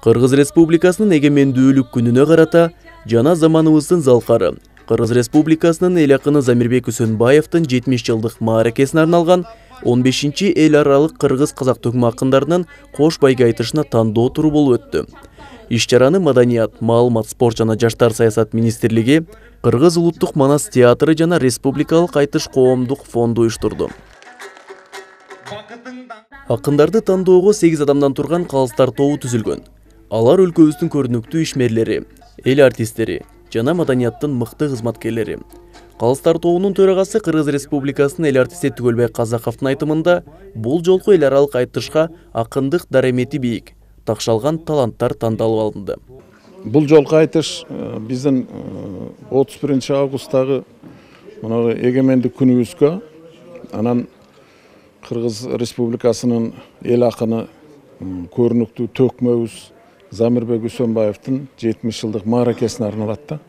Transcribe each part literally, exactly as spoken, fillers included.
Кыргыз Республикасынын эгемендүүлүк күнүнө карата жана заманыбыздын залкары Кыргыз Республикасынын эл акыны Замирбек Үсөнбаевдин жетимиш жылдык мааракесине арналган он бешинчи эл аралык кыргыз казак төкмө акындарынын кош байге айтышына тандоо туру болуп өттү. Иш-чараны Маданият, маалымат, спорт жана жаштар саясат министрлиги, Кыргыз улуттук манас театры жана Республикалык айтыш коомдук фонду уюштурду. Акындарды тандоого сегиз адамдан турган калыстар тобу түзүлгөн. Алар өлкөбүздүн көрүнүктүү ишмерлери, эл артисттери жана маданияттын мыкты кызматкерлери. Калыстар тобунун төрагасы Кыргыз Республикасынын эл артисти Түгөлбай Казаковдун айтымында, бул жолку эл аралык айтышка акындык даремети бийик, такшалган таланттар тандалып алынды. Бул жолку айтыш биздин отуз биринчи августтагы мына эгемендик күнүбүзгө, анан Кыргыз Республикасынын эл акыны көрүнүктүү төкмөбүз Замирбек Үсөнбаевдин жетимиш жылдык мааракесине арналат да.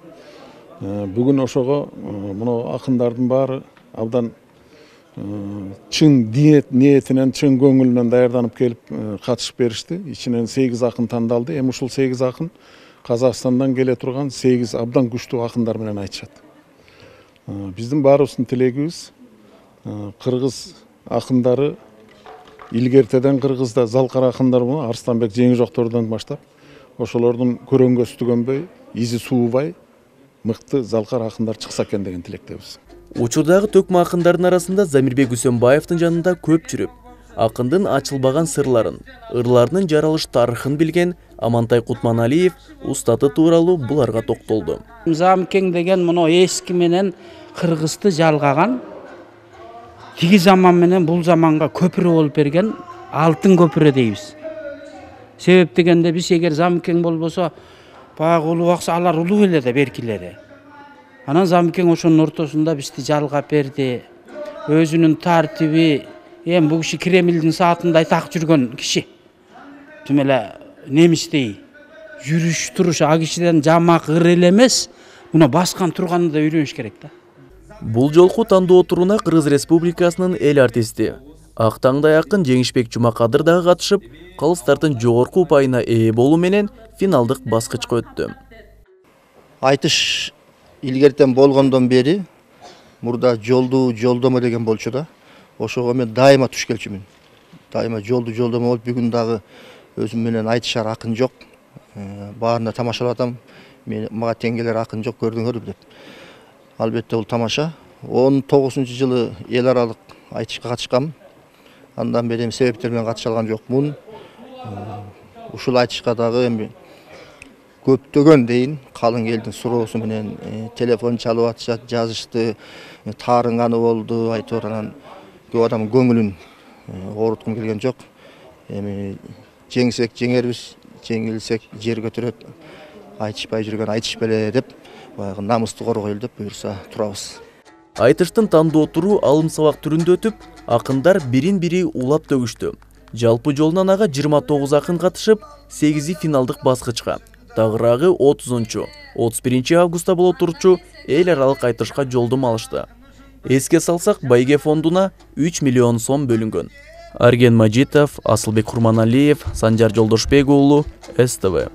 Бүгүн ошого мына акындардын баары абдан чын ниетинен, чын көңүлүнөн даярданып келип катышып беришти. Ичинен сегиз акын тандалды. Эми ушул сегиз акын Казакстандан келе турган сегиз абдан күчтүү акындар менен айтышат. Биздин баарыбыздын тилегибиз кыргыз акындары илгертеден Кыргызда залкар акындар болон Арстанбек Жеңижоктордон баштап ошолордун көрөнгөсү түгөнбөй, изи суубай, мыкты залкар акындар чыкса экен деген тилектебиз. Учурдагы төкмө акындардын арасында Замирбек Үсөнбаевдин жанында көп жүрүп, акындын ачылбаган сырларын, ырларынын жаралыш тарыхын билген Амантай Кутманалиев устаты тууралуу буларга токтолду. Замкең деген мына эски менен Кыргызды жалгаган, тиги заман менен бул заманга көпүрө болуп берген алтын көпүрө дейбиз. Себеп дегенде биз эгер Замкең болбосо, баягы улуу акса алар улуу эле да беркилери. Анан Замкең ошонун ортосунда бизди жалгап берди. Өзүнүн тартиби, эми бул киши Кремлдин саатындай так жүргөн киши. Тим эле немистей жүрүш туруш а кишиден жамак ыр эле эмес, муну баскан турганды да үйрөнүш керек да. Бул жолку тандоо туруна Кыргыз Республикасынын эл артисти Ак таңдай акын Жеңишбек Жумакадыр дагы катышып, калыстардын жогорку упайына ээ болуу менен финалдык баскычка өттү. Айтыш илгертен болгондон бери мурда жолду жолдомо деген болчу да. Ошого мен дайыма туш келчүмүн. Дайыма жолду жолдомо болуп, бүгүн дагы өзүм менен айтышар акын жок. Баарына тамашалап атам. Мен мага тең келер акын жок, көрдүңөрбү деп. Албетте бул тамаша. он тогузунчу жылы эл аралык айтышка катышкам. Андан бери себептер менен катыша алган жокмун. Ушул айтышка дагы эми көптөгөн дейин калың элдин суроосу менен телефон чалып атышат, жазышты, таарынганы болду, айтор анан көп адам көңүлүн ооруткум келген жок. Эми жеңсек жеңербиз, жеңилсек жер көтөрөт, айтышпай жүргөн айтыш беле деп, баягы намысты коргойлу деп буюрса турабыз. Айтыштын тандоо туру алым сабак түрүндө өтүп, акындар бирин-бири улап төгүштү. Жалпы жолунан ага жыйырма тогуз акын катышып, сегизи финалдык баскычка, тагыраагы отузунчу, отуз биринчи августта боло турчу эл аралык айтышка жолдомо алышты. Эске салсак, байге фондуна үч миллион сом бөлүнгөн. Арген Мажитов, Асылбек Курманалиев, Санжар Жолдошбек уулу, эс тэ вэ.